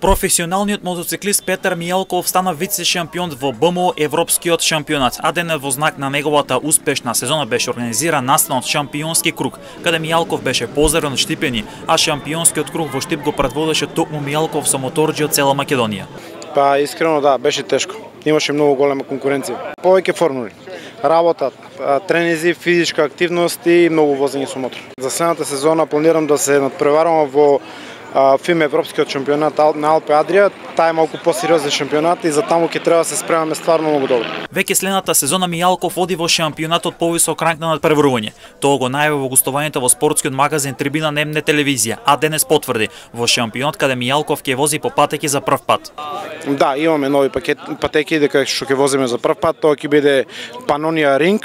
Професионалниот мотоциклист Петар Мијалков стана вице-шампион во БМО Европскиот шампионат, а денес во знак на неговата успешна сезона беше организиран настанот шампионски круг, каде Мијалков беше поздравен од Штипени, а шампионскиот круг во Штип го предводеше токму Мијалков со моторџи од цела Македонија. Па искрено да, беше тешко. Имаше многу голема конкуренција. Повеќе формули, работа, тренинзи, физичка активност и многу возење со мотор. За следната сезона планирам да се надпреварам во ФИМ Европскиот шампионат на Алпе Адрија. Таа е малку посериозен шампионат и за таму ќе треба да се спремаме стварно многу добро. Веќе следната сезона Мијалков оди во шампионатот повисок ранг на надпреварување. Тоа го најави во гостувањето во спортскиот магазин Трибина на МН телевизија, а денес потврди во шампионат каде Мијалков ќе вози по патеки за прв пат. Да, имаме нови патеки дека што ќе возиме за прв пат, тоа ќе биде Панонија Ринг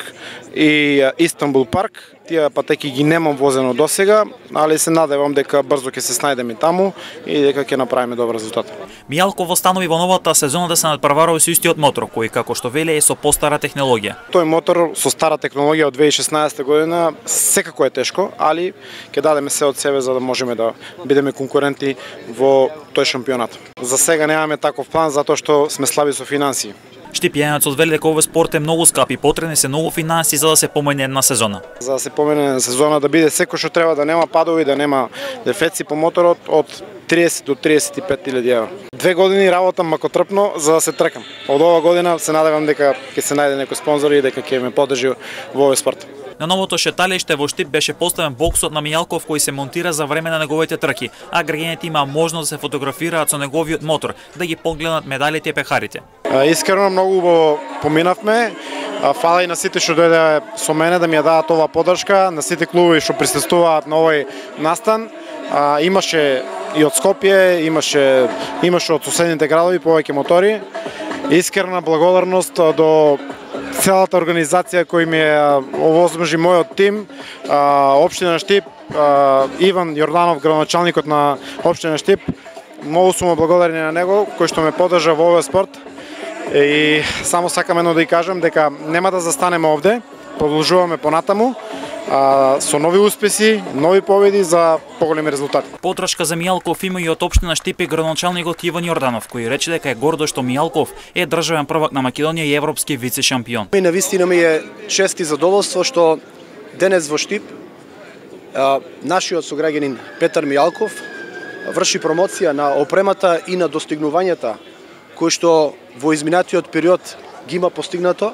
и Истанбул парк. Тие патеки ги немам возено досега, али се надевам дека брзо ќе се снајдеме таму и дека ќе направиме добар резултат. Мијалков останови во новата сезона да се надпреварува со истиот мотор, кој како што вели е со постара технологија. Тој мотор со стара технологија од 2016 година секако е тешко, али ќе дадеме се од себе за да можеме да бидеме конкуренти во тој шампионат. За сега немаме таков план затоа што сме слаби со финансии. Штипјанецот вели дека овој спорт е многу скап и потребни се многу финанси за да се помине една сезона. За да се помине една сезона да биде секој што треба, да нема падови, да нема дефеци по моторот од 30 до 35.000 евра. 2 години работам макотрпно за да се тркам. Од ова година се надевам дека ќе се најде некој спонзор и дека ќе ме поддржи во овој спорт. На новото шеталиште во Штип беше поставен боксот на Мијалков кој се монтира за време на неговите трки, а граѓаните има можност да се фотографираат со неговиот мотор, да ги погледнат медалите и пехарите. Искрено многу го поминавме. Фала и на сите што дојде со мене да ми ја дадат оваа поддршка, на сите клубови што присуствуваат на овој настан. Имаше и од Скопје, имаше од соседните градови повеќе мотори. Искрена благодарност до целата организација кој ми овозможи мојот тим, општина Штип, Иван Јорданов, градоначалникот на општина Штип. Многу сум благодарен на него кој што ме поддржа во овој спорт. И само сакам едно да ја кажам дека нема да застанеме овде, продолжуваме понатаму со нови успеси, нови победи за поголеми резултати. Подршка за Мијалков има и од општина Штип и градоначалникот Иван Јорданов, кој рече дека е гордо што Мијалков е државен prvак на Македонија и европски вице-шампион. И навистина ми е чест и задоволство што денес во Штип нашиот сограѓанин Петар Мијалков врши промоција на опремата и на достигнувањата кои што во изминатиот период ги има постигнато.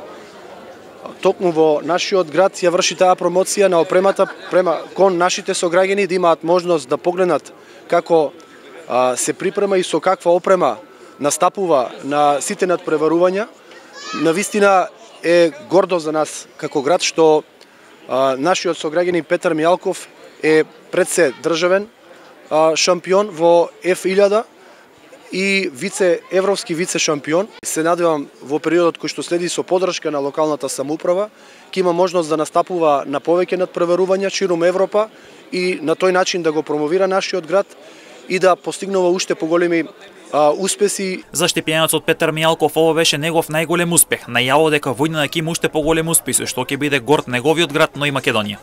Токму во нашиот град ја врши таа промоција на опремата кон нашите сограѓани да имаат можност да погледнат како се припрема и со каква опрема настапува на сите надпреварувања. Навистина е гордо за нас како град што нашиот сограѓанин Петар Мијалков е пред се државен шампион во F1000 и европски вице-шампион. Се надевам во периодот кој што следи со поддршка на локалната самоуправа ќе има можност да настапува на повеќе надпреварувања ширум Европа и на тој начин да го промовира нашиот град и да постигнува уште поголеми успеси. За штипјанецот Петар Мијалков ово беше негов најголем успех. Најавил дека во иднина ќе има уште поголем успеси, што ќе биде горд неговиот град, но и Македонија.